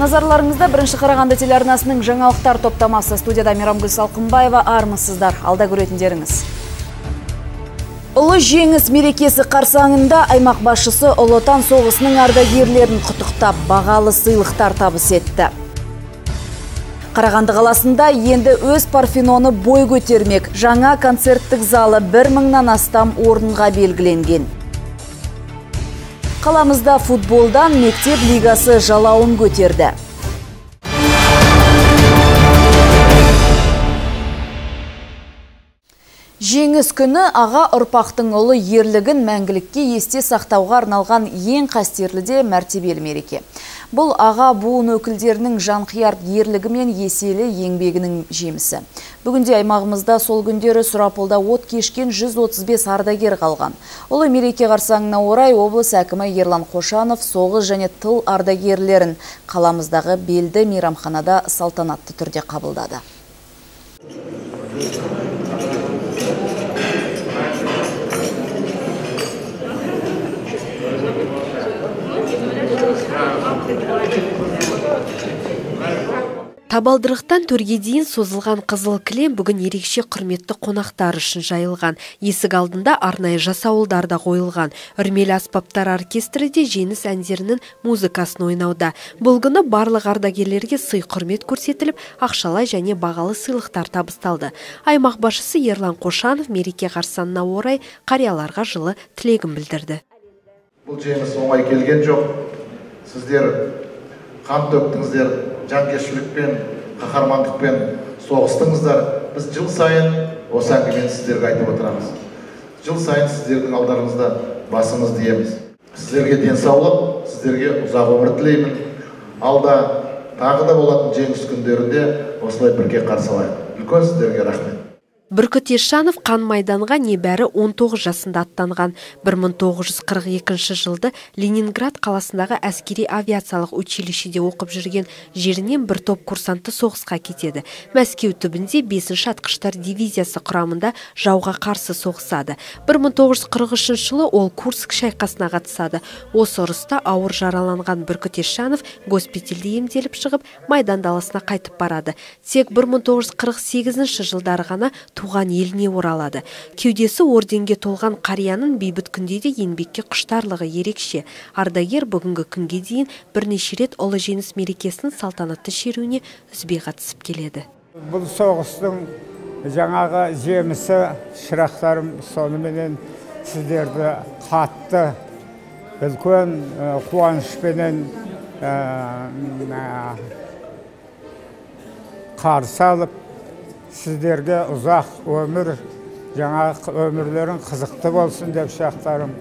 Назарларыңызда бірінші Қарағанды телеарнасының жаңалықтар топтамасы. Студияда Мейрамгүл Салқынбаева, армысыздар, алда көретіндеріңіз. Ұлы жеңіс мерекесі қарсаңында аймақ басшысы Ұлы Отан соғысының ардагерлерін құттықтап, бағалы сыйлықтар табыс етті. Қарағанды қаласында енді өз Парфеноны бой көтермек. Жаңа концерттік залы 1000-нан астам орынға белгіленген. Қаламызда футболдан мектеп лигасы жалауын көтерді. Жеңіс күні аға ұрпақтың ұлы ерлігін мәңгілікке есте сақтауға арналған ең қастерлі де мәртебелі мереке. Бұл аға буын өкілдерінің жанқияр ерлігі мен еселі еңбегінің жемісі. Бүгінде аймағымызда сол күндері сұрапылда от кешкен 135 ардагер қалған. Ұлы мереке қарсаңына орай облыс әкімі Ерлан Қошанов соғыс және тыл ардагерлерін қаламыздағы белді мейрамханада салтанатты түрде қабылдады. Табалдырықтан төрге дейін созылған қызыл кілем бүгін ерекше құрметті қонақтар үшін жайылған. Есік алдында арнайы жасауылдар да қойылған. Үрмелі аспаптар оркестрі де жеңіс әндерінің музыкасын ойнауда. Бұл күні барлық ардагерлерге сый құрмет көрсетіліп, ақшалай және бағалы сыйлықтар табысталды. Аймақ басшысы Ерлан Қошанов мереке қарсаңына орай қарияларға жылы тілегін білдірді. Бұл жеңіс оңай келген жоқ. Сіздер қан төктіңіздер, жанкештілікпен, қаһармандықпен соғыстыңыздар. Біз жыл сайын осы әңгімені сіздерге айтып отырамыз. Жыл сайын сіздердің алдарыңызда басымыз диеміз. Сіздерге денсаулық, сіздерге ұзақ өмір тілеймін. Алда тағы да болатын жеңіс күндерінде осылай бірге қарсы алайық. Үлкен сіздерге рахмет. Бүркіт Есжанов қан майданға небәрі 19 жасында аттанған. 1942 жылды Ленинград қаласындағы әскери авиациялық училищеде оқып жүрген жерінен бір топ курсанты соғысқа кетеді. Мәскеу түбінде 5-ші атқыштар дивизиясы құрамында жауға қарсы соғысады. 1943 жылы ол Курск шайқасына қатысады. Осы ұрыста ауыр жараланған Бүркіт Есжанов госпитальде емделіп шығып, майдан даласына қайтып барады. Тек 1948 жылдары ғана туған еліне оралады. Кеудесі орденге толған қарияның бейбіт күнде де еңбекке құштарлығы ерекше. Ардагер бүгінгі күнге дейін бірнеше рет ұлы жеңіс мерекесінің салтанатты шеруіне үзбей қатысып келеді. Бұл соғыстың жаңағы жемісі, шырақтарым, соныменен сіздерді қатты үлкен қуанышпенен қарсы алып, сіздерге ұзақ өмір, жаңа өмірлерің қызықты болсын деп шақтарым.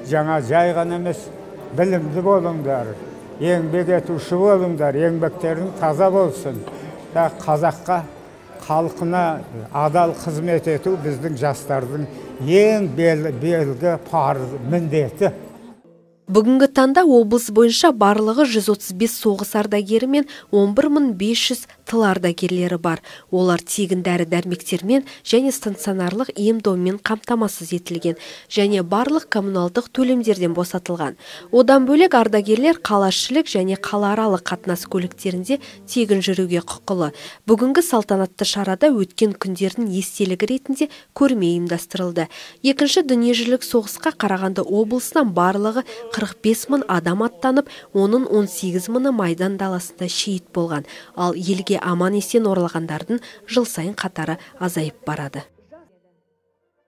Жаңа жай ғана емес, білімді болыңдар, еңбек етуші болыңдар, еңбектерің таза болсын. Қазаққа, халқына адал қызмет ету біздің жастардың ең белгі парыз міндеті. Бүгінгі таңда облыс бойынша барлығы 135 соғыс ардагері мен 11500 тыл ардагерлері бар. Олар тегін дәрі-дәрмектермен және стационарлық ем-доммен қамтамасыз етілген және барлық коммуналдық төлемдерден босатылған. Одан бөлек ардагерлер қалашілік және қалааралық қатынас көліктерінде тегін жүруге құқылы. Бүгінгі салтанатты шарада өткен күндердің естелігі ретінде көрме ұйымдастырылды. Екінші дүниежүзілік соғысқа Қарағанды облысынан барлығы 45 мың адам аттанып, оның 18 мыңы майдан даласында шейіт болған, ал елге аман есен оралғандардың жыл сайын қатары азайып барады.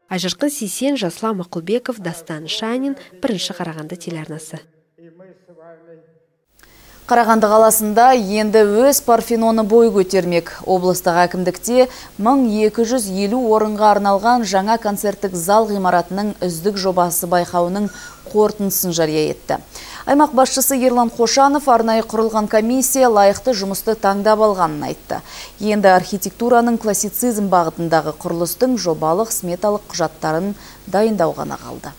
Айжарқын Сейсен, Жасұлан Мақұлбеков, Дастан Шанин, бірінші Қарағанды телеарнасы. Қарағанды қаласында енді өз Парфеноны бой көтермек. Облыстық әкімдікте 1250 орынға арналған жаңа концерттік зал ғимаратының үздік жобасы байқауының қорытындысын жария етті. Аймақ басшысы Ерлан Қошанов арнайы құрылған комиссия лайықты жұмысты таңдап алғанын айтты. Енді архитектураның классицизм бағытындағы құрылыстың жобалық сметалық құжаттарын дайындау ғана қалды.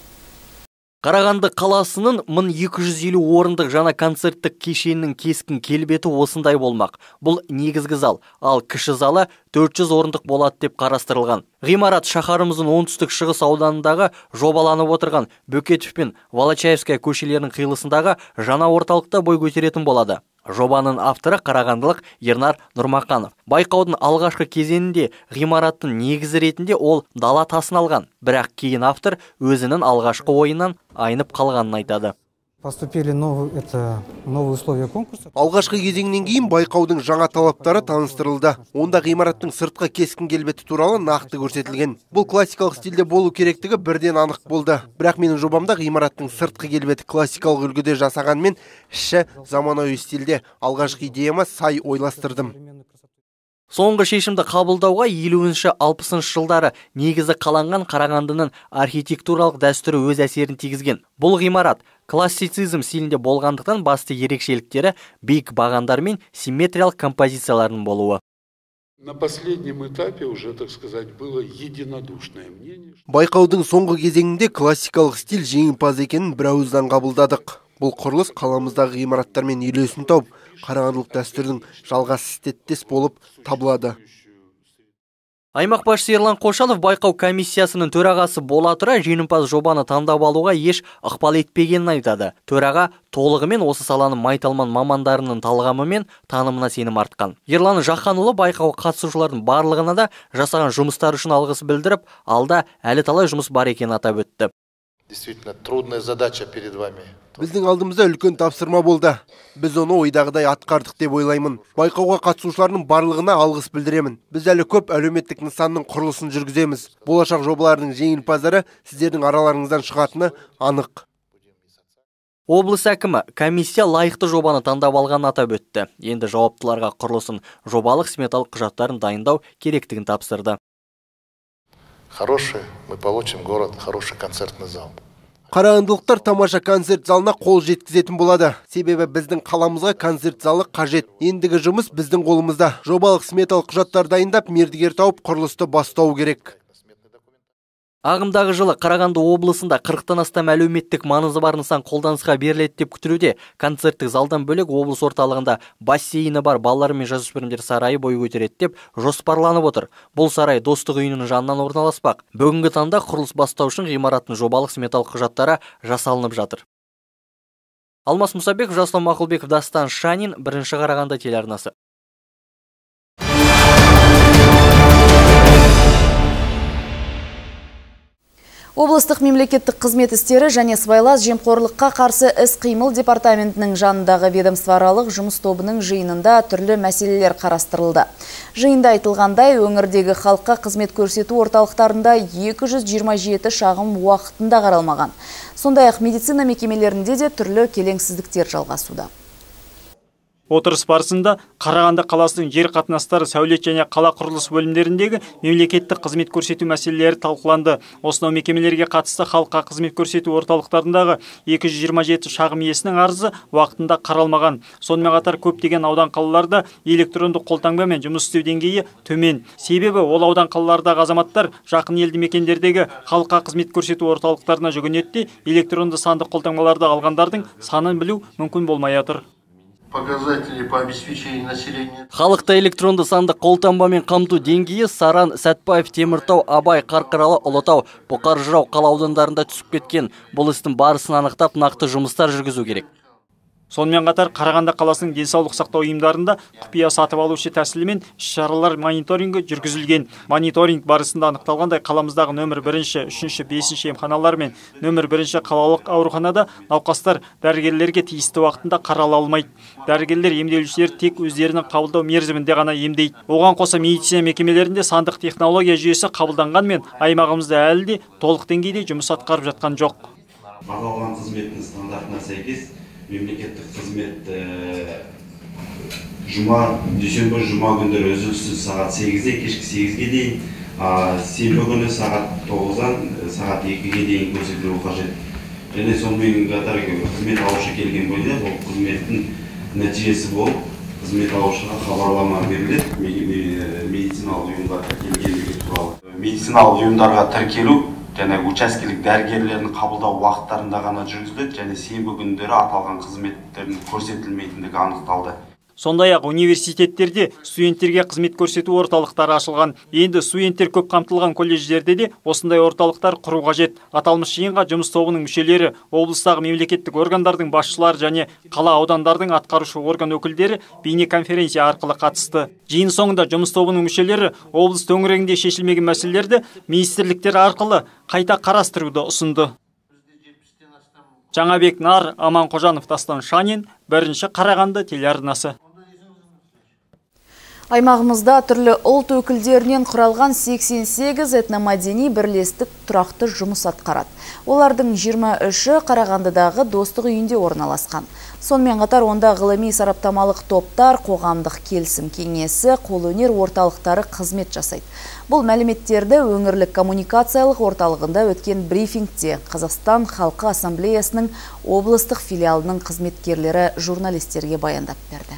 Қарағанды қаласының 1250 орындық жаңа концерттік кешенінің кескін келбеті осындай болмақ. Бұл негізгі зал, ал кіші залы 400 орындық болады деп қарастырылған. Ғимарат шаһарымыздың оңтүстік шығыс ауданындағы жобаланып отырған Бөкетов пен Волочаевская көшелерінің қиылысындағы жаңа орталықта бой көтеретін болады. Жобаның авторы қарағандылық Ернар Нұрмақанов. Байқаудың алғашқы кезеңінде ғимараттың негізі ретінде ол дала тасын алған, бірақ кейін автор өзінің алғашқы ойынан айнып қалғанын айтады. Поступили новые условия конкурса. Алғашқы кезеңнен кейін байқаудың жаңа талаптары таныстырылды. Онда ғимараттың сыртқы кескін келбеті туралы нақты көрсетілген. Бұл классикалық стильде болу керектігі бірден анық болды. Бірақ менің жобамда ғимараттың сыртқы келбеті классикалық үлгіде жасағанмен, іші заманауи стильде. Алғашқы идеяма сай ойластырдым. Соңғы шешімді қабылдауға 50-60 жылдары негізі қаланған Қарағандының архитектуралық дәстүрі өз әсерін тигізген. Бұл ғимарат классицизм стилінде болғандықтан басты ерекшеліктері биік бағандар мен симметриялық композициялардың болуы. На последнем этапе уже, так сказать, было единодушное мнение. Байқаудың соңғы кезеңінде классикалық стиль жеңімпаз екенін бірауыздан қабылдадық. Бұл құрылыс қаламыздағы ғимараттармен үйлесім тауып, қарағандылық дәстүрдің жалғас істеттес болып табылады. Аймақ басшысы Ерлан Қошанов байқау комиссиясының төрағасы бола тұра жеңімпаз жобаны таңдап алуға еш ықпал етпегенін айтады. Төраға толығымен осы саланың майталман мамандарының талғамы мен танымына сенім артқан. Ерлан Жақанұлы байқауға қатысушылардың барлығына да жасаған жұмыстар үшін алғыс білдіріп, алда әлі талай жұмыс бар екенін атап өтті. Действительно, трудная задача перед вами. Біздің алдымызда үлкен тапсырма болды. Біз оны ойдағыдай атқардық деп ойлаймын. Байқауға қатысушылардың барлығына алғыс білдіремін. Біз әлі көп әлеуметтік нысанның құрылысын жүргіземіз. Болашақ жобалардың жеңімпаздары сіздердің араларыңыздан шығатыны анық. Облыс әкімі комиссия лайықты жобаны таңдап алғанын атап өтті. Енді жауаптыларға құрылысын жобалық сметалық құжаттарын дайындау керектігін тапсырды. Хороший, мы получим город, хороший концертный зал. Қарағандылықтар тамаша концерт залына қол жеткізетін болады. Себебі біздің қаламызға концерт залы қажет. Ендігі жұмыс біздің қолымызда. Жобалық сметалық құжаттар дайындап, мердігер тауып, құрылысты бастау керек. Ағымдағы жылы Қарағанды облысында 40-тан астам әлеуметтік маңызы бар нысан қолданысқа беріледі деп күтілуде. Концерттік залдан бөлек облыс орталығында бассейні бар балалар мен жасөспірімдер сарайы бой көтереді деп жоспарланып отыр. Бұл сарай Достық үйінің жанынан орналаспақ. Бүгінгі таңда құрылыс бастау үшін ғимараттың жобалық сметалық құжаттары жасалынып жатыр. Алмас Мұсабеков, Жаслан Мақұлбеков, Дастан Шанин, 1-ші Қарағанды телеарнасы. Облыстық мемлекеттік қызмет істері және сыбайлас жемқорлыққа қарсы іс-қимыл департаментінің жанындағы ведомствоаралық жұмыс тобының жиынында түрлі мәселелер қарастырылды. Жиында айтылғандай, өңірдегі халыққа қызмет көрсету орталықтарында 227 шағым уақытында қаралмаған. Сондай-ақ медицина мекемелерінде де түрлі келеңсіздіктер жалғасуда. Отырыс барысында Қарағанды қаласының жер қатынастары, сәулет және қала құрылыс бөлімдеріндегі мемлекеттік қызмет көрсету мәселелері талқыланды. Осынау мекемелерге қатысты халыққа қызмет көрсету орталықтарындағы 227 шағым иесінің арызы уақытында қаралмаған. Сонымен қатар көптеген аудан қалаларда электронды қолтаңбамен жұмыс істеу деңгейі төмен. Себебі ол аудан қалалардағы азаматтар жақын елді мекендердегі халыққа қызмет көрсету орталықтарына жүгінеді, электронды сандық қолтаңбаларды алғандардың санын білу мүмкін болмай отыр. Показатели по обеспечению населения. Халықта электронды сандық қолтаңбамен қамту деңгейі Саран, Сәтпаев, Теміртау, Абай, Қарқаралы, Ұлытау, Бұқар Жырау қала аудандарында түсіп кеткен. Бұл істің барысын анықтап, нақты жұмыстар жүргізу керек. Сонымен қатар Қарағанды қаласының денсаулық сақтау ұйымдарында құпия сатып алушы тәсілімен іс-шаралар мониторингі жүргізілген. Мониторинг барысында анықталғандай, қаламыздағы нөмір 1, 3, 5 емханалар мен нөмір 1 қалалық ауруханада науқастар дәрігерлерге тиісті уақытында қарала алмайды. Дәрігерлер емделушілер тек өздерінің қабылдау мерзімінде ғана емдейді. Оған қоса медицина мекемелерінде сандық технология жүйесі қабылданғанмен, аймағымызда әлі де толық деңгейде жұмыс атқарып жатқан жоқ. Бағалған қызметтің стандартына сәйкес мемлекеттік қызмет дүйсенбі жұма күндері үзіліссіз сағат 8-де кешкі 8-ге дейін, сенбі күні сағат 9-дан сағат 2-ге дейін көрсетілуі қажет. Және сонымен қатар қызмет алушы келген бойда бұл қызметтің нәтижесі болып, қызмет алушыға хабарлама беріледі медициналық ұйымға тіркелгендігі туралы. Медициналық ұйымдарға тіркелу және учаскелік дәрігерлердің қабылдау уақыттарында ғана жүргізіледі, және сенбі күндері аталған қызметтердің көрсетілмейтіндігі анықталды. Сондай-ақ университеттерде студенттерге қызмет көрсету орталықтары ашылған. Енді студенттер көп қамтылған колледждерде де осындай орталықтар құру қажет. Аталмыш жиынға жұмыс тобының мүшелері, облыстағы мемлекеттік органдардың басшылары және қала аудандардың атқарушы орган өкілдері бейнеконференция арқылы қатысты. Жиын соңында жұмыс тобының мүшелері облыс төңірегінде шешілмеген мәселелерді министрліктер арқылы қайта қарастыруды ұсынды. Жаңабек Нар, Аман Қожанов, Дастан Шанин, бірінші Қарағанды телеарнасы. Аймағымызда түрлі ұлт өкілдерінен құралған 88 этномәдени бірлестік тұрақты жұмыс атқарады. Олардың 23-і Қарағандыдағы Достық үйінде орналасқан. Сонымен қатар онда ғылыми сараптамалық топтар, қоғамдық келісім кеңесі, қолөнер орталықтары қызмет жасайды. Бұл мәліметтерді өңірлік коммуникациялық орталығында өткен брифингте Қазақстан Халқы Ассамблеясының облыстық филиалының қызметкерлері журналистерге баяндап берді.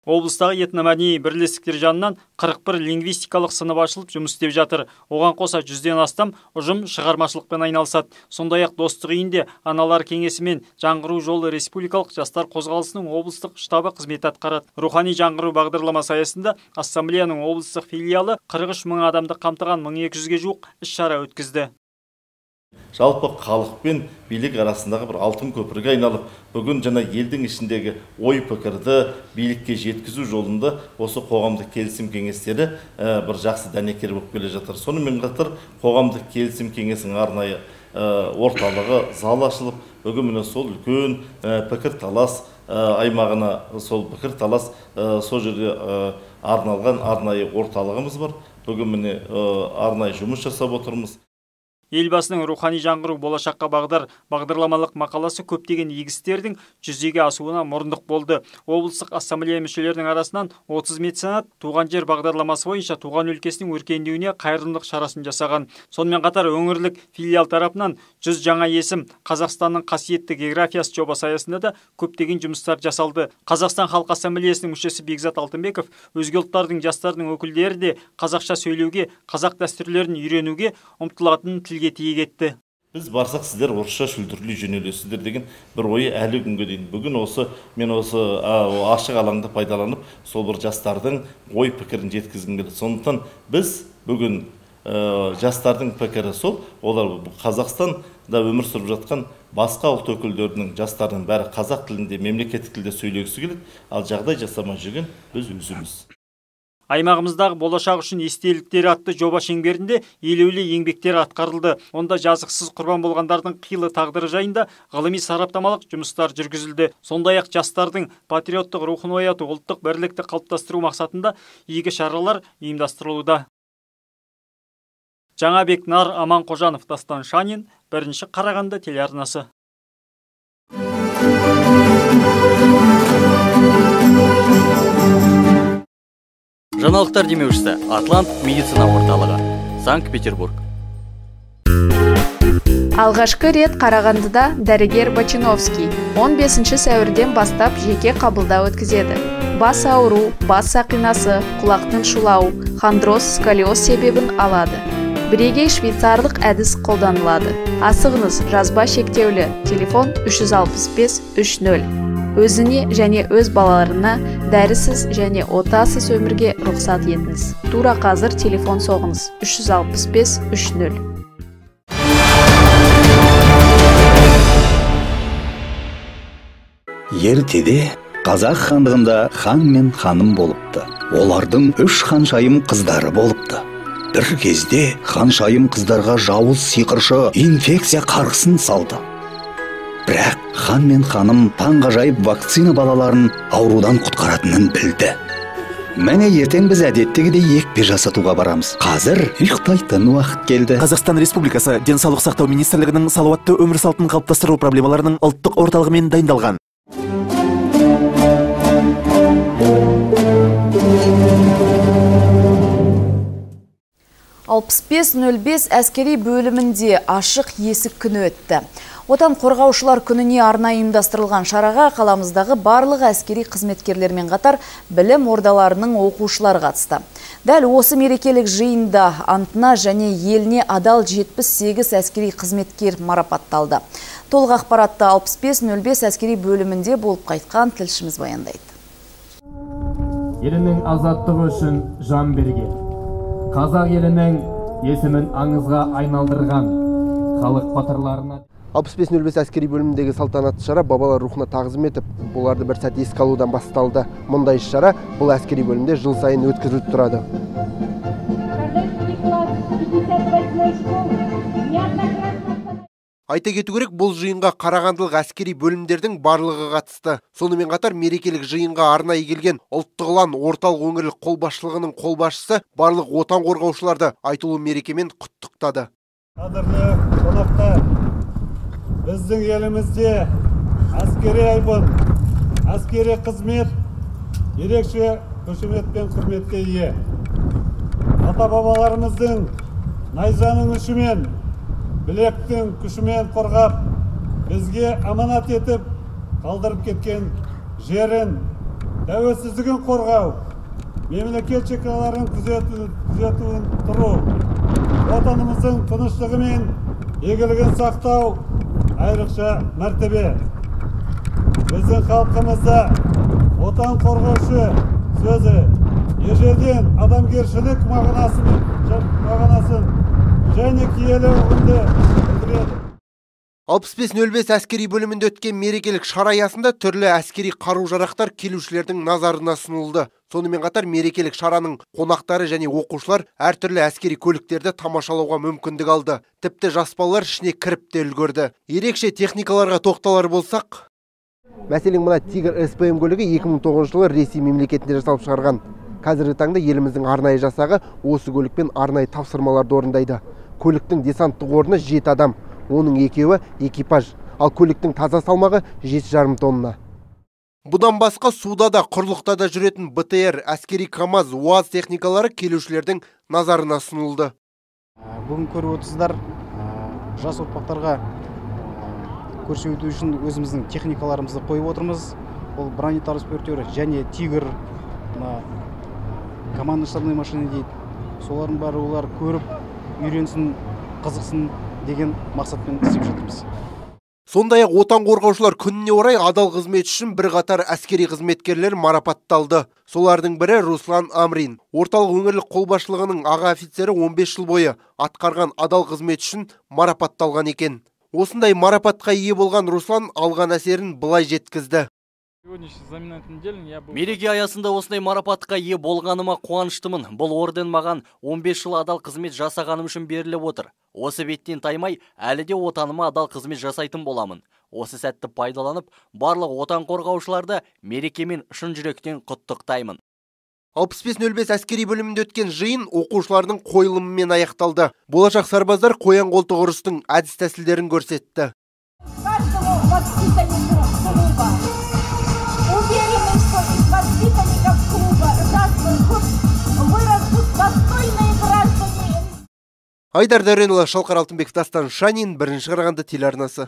Облыстағы этномәдени бірлестіктер жанынан 41 лингвистикалық сынып ашылып жұмыс істеп жатыр. Оған қоса 100-ден астам ұжым шығармашылықпен айналысады. Сондай-ақ Достық үйінде аналар кеңесі мен жаңғыру жолы республикалық жастар қозғалысының облыстық штабы қызмет атқарады. Рухани жаңғыру бағдарламасы аясында ассамблеяның облыстық филиалы 43 мың адамды қамтыған 1200-ге жуық іс-шара өткізді. Жалпы халық пен билік арасындағы бір алтын көпірге айналып, бүгін жана елдің ішіндегі ой пікірді билікке жеткізу жолында осы қоғамдық келісім кеңестері бір жақсы дәнекер болып келе жатыр. Сонымен қатар қоғамдық келісім кеңесінің арнайы орталығы зал ашылып, бүгін міне сол үлкен пікір талас аймағына, сол пікір талас сол жерде арналған арнайы орталығымыз бар. Бүгін міне арнайы жұмыс жасап отырмыз. Елбасының рухани жаңғыру болашаққа бағдар бағдарламалық мақаласы көптеген игі істердің жүзеге асуына мұрындық болды. Облыстық ассамблея мүшелерінің арасынан 30 меценат туған жер бағдарламасы бойынша туған өлкесінің өркендеуіне қайырымдылық шарасын жасаған. Сонымен қатар өңірлік филиал тарапынан 100 жаңа есім Қазақстанның қасиетті географиясы жобасы аясында да көптеген жұмыстар жасалды. Қазақстан Халқы Ассамблеясының мүшесі Бекзат Алтынбеков өзге ұлттардың жастардың өкілдері де қазақша сөйлеуге, қазақ дәстүрлерін үйренуге ұмтылатынын тілге тиек етті. Біз барсақ сіздер орысша шүлдірлей жөнелесіздер деген бір ойы әлі күнге дейін. Бүгін мен ашық алаңды пайдаланып, сол бір жастардың ой пікірін жеткізгім келеді. Сондықтан біз бүгін жастардың пікірі сол, олар Қазақстанда өмір сүріп жатқан басқа ұлт өкілдерінің жастарының бәрі қазақ тілінде, мемлекеттік тілде сөйлегісі келеді, ал жағдай жасамай жүрген біз өзіміз. Аймағымыздағы болашақ үшін естеліктері атты жоба шеңберінде елеулі еңбектер атқарылды. Онда жазықсыз құрбан болғандардың қилы тағдыры жайында ғылыми сараптамалық жұмыстар жүргізілді. Сондай-ақ жастардың патриоттық рухын ояту, ұлттық бірлікті қалыптастыру мақсатында игі шаралар ұйымдастырылуда. Жаңабек Нар, Аман Қожанов, Дастан Шанин, бірінші Қарағанды телеарнасы. Жаңалықтар демеушісі Атлант медицина орталығы, Санкт-Петербург. Алғашқы рет Қарағандыда дәрігер Бачиновский 15 сәуірден бастап жеке қабылдау өткізеді. Бас ауру, бас сақинасы, құлақтың шулауы, хондроз, сколиоз себебін алады. Бірегей швейцарлық әдіс қолданылады. Асығыңыз, жазба шектеулі, телефон 365-30. Өзіне және өз балаларына дәрісіз және отасыз өмірге рұқсат етіңіз. Тура қазір телефон соғыңыз 365-30. Ертеде қазақ хандығында хан мен ханым болыпты. Олардың 3 ханшайым қыздары болыпты. Бір кезде ханшайым қыздарға жауыз сиқыршы инфекция қарғысын салды. Бірақ хан мен ханым таңғажайып вакцина балаларын аурудан құтқаратынын білді. Мәне ертең біз әдеттегідей екпе жасатуға барамыз. Қазір ұйықтайтын уақыт келді. Қазақстан Республикасы Денсаулық сақтау министрлігінің салауатты өмір салтын қалыптастыру проблемаларының ұлттық орталығымен дайындалған. «6505 әскери бөлімінде ашық есік күні өтті. Отан қорғаушылар күніне арнайы ұйымдастырылған шараға қаламыздағы барлық әскери қызметкерлермен қатар білім ордаларының оқушылары қатысты. Дәл осы мерекелік жиында антына және еліне адал 78 әскери қызметкер марапатталды. Толық ақпаратты 6505 әскери бөлімінде болып қайтқан тілшіміз баяндайды. елінің азаттығы үшін жан берген, қазақ елінің есімін аңызға айналдырған халық батырларына 65-05 әскери бөліміндегі салтанатты шара бабалар рухына тағзым етіп, оларды бір сәт еске алудан басталды. Мұндай шара бұл әскери бөлімде жыл сайын өткізіліп тұрады. Айта кету керек, бұл жиынға қарағандылық әскери бөлімдердің барлығы қатысты. Сонымен қатар мерекелік жиынға арнайы келген ұлттық ұлан орталық өңірлік қолбасшылығының қолбасшысы барлық отан қорғаушыларды айтулы мерекемен құттықтады. Қадірлі қонақтар, біздің елімізде әскери айбын, әскери қызмет ерекше қошемет пен құрметке ие. Ата-бабаларымыздың найзаның ұшымен, білектің күшімен қорғап, бізге аманат етіп қалдырып кеткен жерін, тәуелсіздігін қорғау, мемлекет шекараларын күзетуін тұру, отанымыздың тыныштығы мен игілігін сақтау айрықша мәртебе. Біздің халқымызда отан қорғаушы сөзі ежелден адамгершілік мағынасын және киелі ұғымды білдіреді. 65-05 әскери бөлімінде өткен мерекелік шара аясында түрлі әскери қару-жарақтар келушілердің назарына ұсынылды. Сонымен қатар мерекелік шараның қонақтары және оқушылар әртүрлі әскери көліктерді тамашалауға мүмкіндік алды. Тіпті жас балалар ішіне кіріп те үлгерді. Ерекше техникаларға тоқталар болсақ, мәселен мына Тигр СПМ көлігі 2009 жылы Ресей мемлекетінде жасалып шығарған. Қазіргі таңда еліміздің арнайы жасағы осы көлікпен арнайы тапсырмаларды орындайды. Көліктің десанттық орны 7 адам, оның екеуі экипаж, ал көліктің таза салмағы 7,5 тонна. Бұдан басқа суда да құрлықта да жүретін БТР, әскери КАМАЗ, УАЗ техникалары келушілердің назарына ұсынылды. Бүгін көріп отырсыздар, жас ұрпақтарға көрсету үшін өзіміздің техникаларымызды қойып отырмыз. Ол бронетранспортер және Тигр, командно-штабной машина дейді. Солардың бәрі олар көріп, үйренсін, қызықсын деген мақсатпен істеп жатырмыз. Сондай-ақ отан қорғаушылар күніне орай адал қызмет үшін бірқатар әскери қызметкерлер марапатталды. Солардың бірі Руслан Амрин. Орталық өңірлік қолбасшылығының аға офицері 15 жыл бойы атқарған адал қызмет үшін марапатталған екен. Осындай марапатқа ие болған Руслан алған әсерін былай жеткізді. Мереке аясында осындай марапатқа ие болғаныма қуаныштымын. Бұл орден маған 15 жыл адал қызмет жасағаным үшін беріліп отыр. Осы беттен таймай, әлі де отаныма адал қызмет жасайтын боламын. Осы сәтті пайдаланып, барлық отан қорғаушыларды мерекемен шын жүректен құттықтаймын. 65-05 әскери бөлімінде өткен жиын оқушылардың қойылымымен аяқталды. Болашақ сарбаздар қоян қолтық ұрыстың әдіс тәсілдерін көрсетті. Айдар Дәуренұлы, Шалқар Алтынбеков, Дастан Шанин, бірінші Қарағанды телеарнасы.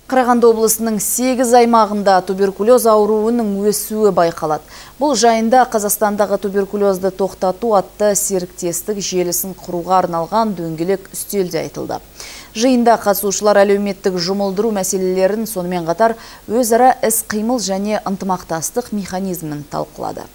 Қарағанды облысының 8 аймағында туберкулез ауруының өсуі байқалады. Бұл жайында Қазақстандағы туберкулезді тоқтату атты серіктестік желісін құруға арналған дөңгелек үстелде айтылды. Жиында қатысушылар әлеуметтік жұмылдыру мәселелерін, сонымен қатар өзара іс-қимыл және ынтымақтастық механизмін талқылады.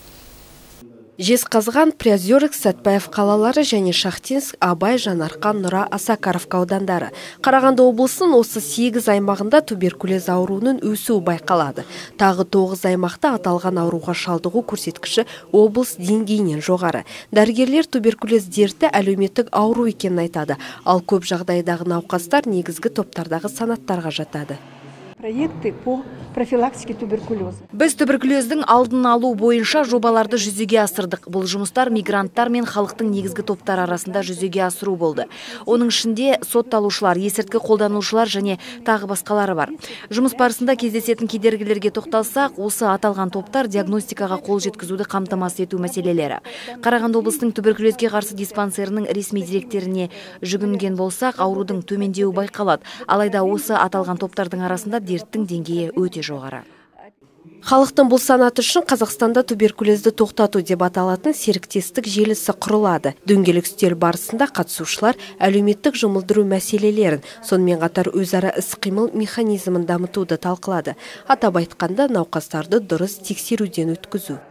Жезқазған, Приозерск, Сәтпаев қалалары және Шахтинск, Абай, Жанарқан, Нұра, Осакаровка аудандары. Қарағанды облысының осы 8 аймағында туберкулез ауруының өсуі байқалады. Тағы 9 аймақта аталған ауруға шалдығу көрсеткіші облыс деңгейінен жоғары. Дәрігерлер туберкулез дерті әлеуметтік ауру екенін айтады, ал көп жағдайдағы науқастар негізгі топтардағы санаттарға жатады. Проекты по профилактике туберкулеза. Біз туберкулездің алдын алу бойынша жобаларды жүзеге асырдық. Бұл жұмыстар мигранттар мен халықтың негізгі топтар арасында жүзеге асыру болды. Оның ішінде сотталушылар, есірткі қолданушылар және тағы басқалары бар. Жұмыс барысында кездесетін кедергілерге тоқталсақ, осы аталған топтар диагностикаға қол жеткізуді қамтамасыз ету мәселелері. Қарағанды облысының туберкулезге қарсы диспансерінің ресми директоріне жүгінген болсақ, аурудың төмендеуі байқалады. Алайда осы аталған топтардың арасында дерттің деңгейі өте жоғары. Халықтың бұл санаты үшін Қазақстанда туберкулезді тоқтату деп аталатын серіктестік желісі құрылады. Дөңгелек үстел барысында қатысушылар әлеуметтік жұмылдыру мәселелерін, сонымен қатар өзара іс-қимыл механизмін дамытуды талқылады. Атап айтқанда, науқастарды дұрыс тексеруден өткізу.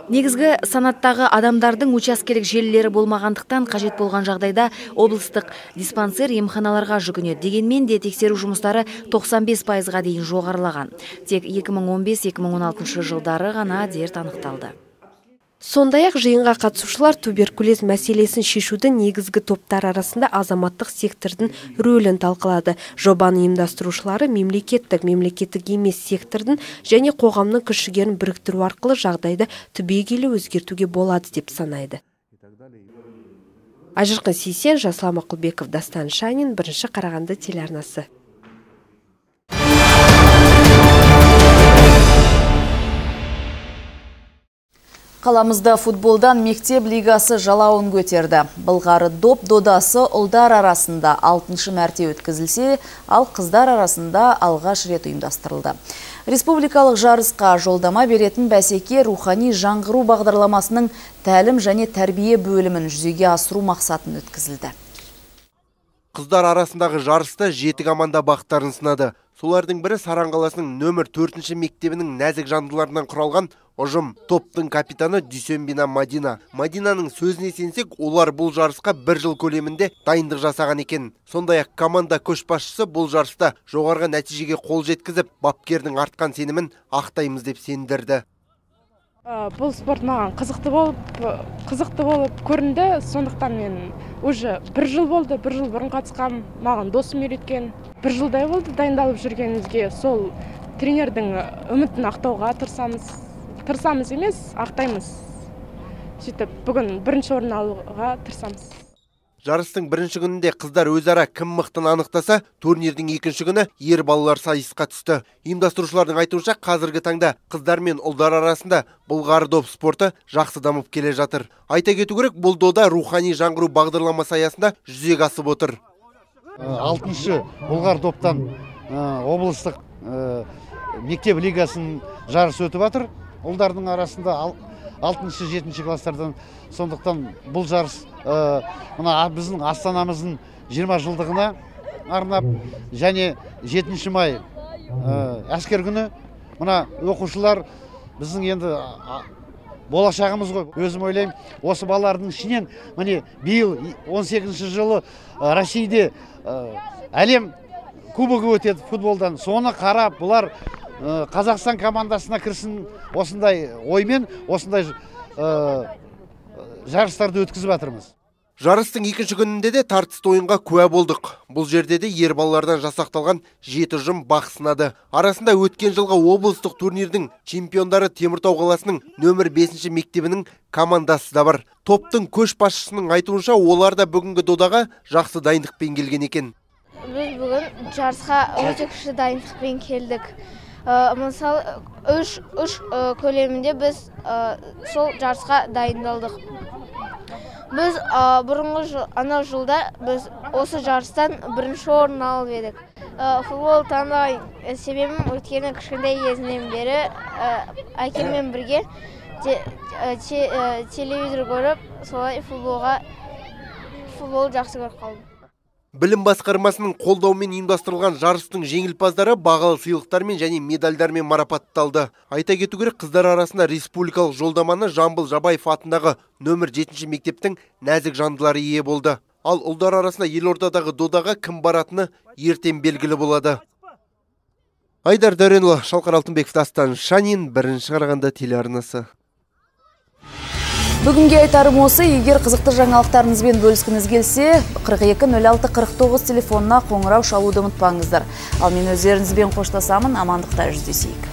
Негізгі санаттағы адамдардың учаскелік желілері болмағандықтан қажет болған жағдайда облыстық диспансер емханаларға жүгінеді. Дегенмен де тексеру жұмыстары 95%-ға дейін жоғарылаған. Тек 2015-2016 жылдары ғана дерт анықталды. Сондай-ақ жиынға қатысушылар туберкулез мәселесін шешудің негізгі топтар арасында азаматтық сектордың рөлін талқылады. Жобаны ұйымдастырушылары мемлекеттік емес сектордың және қоғамның күш-жігерін біріктіру арқылы жағдайды түбегейлі өзгертуге болады деп санайды. Айжырқын Сейсен, Жасұлан Мақұлбеков, Дастан Шанин, Бірінші Қарағанды телеарнасы. Қаламызда футболдан мектеп лигасы жалауын көтерді. Былғары доп додасы ұлдар арасында 6-шы мәрте өткізілсе, ал қыздар арасында алғаш рет ұйымдастырылды. Республикалық жарысқа жолдама беретін бәсеке рухани жаңғыру бағдарламасының тәлім және тәрбие бөлімін жүзеге асыру мақсатын өткізілді. Қыздар арасындағы жарыста 7 команда бақтарын сынады. Солардың бірі Саран қаласының нөмір 4-ші мектебінің нәзік жандыларынан құралған ұжым. Топтың капитаны Дүйсенбина Мадина. Мадинаның сөзіне сенсек, олар бұл жарысқа 1 жыл көлемінде дайындық жасаған екен. Сондай-ақ команда көшбасшысы бұл жарыста жоғарғы нәтижеге қол жеткізіп, бапкердің артқан сенімін ақтаймыз деп сендірді. Бұл спорт маған қызықты болып көрінді. Сондықтан мен уже 1 жыл болды, 1 жыл бұрын қатысқам, маған досым үйреткен. 1 жылдай болды дайындалып жүргенімізге. Сол тренердің үмітін ақтауға тырысамыз емес, ақтаймыз. Сөйтіп, бүгін 1-ші орын алуға тырысамыз. Жарыстың 1-ші күнінде қыздар өзара кім мықтыны анықтаса, турнирдің 2-ші күні ер балалар сайысқа түсті. Ұйымдастырушылардың айтуынша, қазіргі таңда қыздар мен ұлдар арасында былғары доп спорты жақсы дамып келе жатыр. Айта кету керек, бұл дода рухани жаңғыру бағдарламасы аясында жүзеге асып отыр. 6-шы былғары доптан облыстық мектеп лигасының жарысы өтіп жатыр. Ұлдардың арасында 6-шы, 7-ші класстардан. Сондықтан бұл жарыс біздің Астанамыздың 20 жылдығына арнап, және 7 май әскер күні оқушылар біздің енді болашағымыз ғой. Өзім ойлаймын, осы балалардың ішінен биыл 18-ші жылы Россияда әлем кубогы өтеді футболдан. Соны қарап, бұлар Қазақстан командасына кірсін осындай оймен, осындай жарыстарды өткізіп жатырмыз. Жарыстың 2-ші күнінде де тартысты ойынға куә болдық. Бұл жерде де ер балалардан жасақталған 7 ұжым бақ сынады. Арасында өткен жылғы облыстық турнирдің чемпиондары Теміртау қаласының нөмір 5-ші мектебінің командасы да бар. Топтың көшбасшысының айтуынша, олар да бүгінгі додаға жақсы дайындықпен келген екен. Біз бүгін жарысқа өте күшті дайындықпен келдік. Мысалы, үш көлемінде біз сол жарысқа дайындалдық. Біз бұрынғы жылда біз осы жарыстан 1-ші орын алып едік. Футбол таңдаған себебім өткені кішкентай кезімнен бері әкеммен бірге телевизор көріп, солай футбол жақсы көріп қалдым. Білім басқармасының қолдауымен ұйымдастырылған жарыстың жеңімпаздары бағалы сыйлықтармен және медальдармен марапатталды. Айта кету керек, қыздар арасында республикалық жолдаманы Жамбыл Жабаев атындағы нөмір 7-ші мектептің нәзік жандылары ие болды. Ал ұлдар арасында елордадағы додаға кім баратыны ертең белгілі болады. Айдар Дәренұлы, Шалқар Алтынбеков, Дастан Шанин, Бірінші Қарағанды телеарнасы. Бүгінге айтарым осы. Егер қызықты жаңалықтарыңызбен бөліскіңіз келсе, 42-06-49 телефонына қоңырау шалуды ұмытпаңыздар. Ал мен өздеріңізбен қоштасамын, амандықта жүздесейік.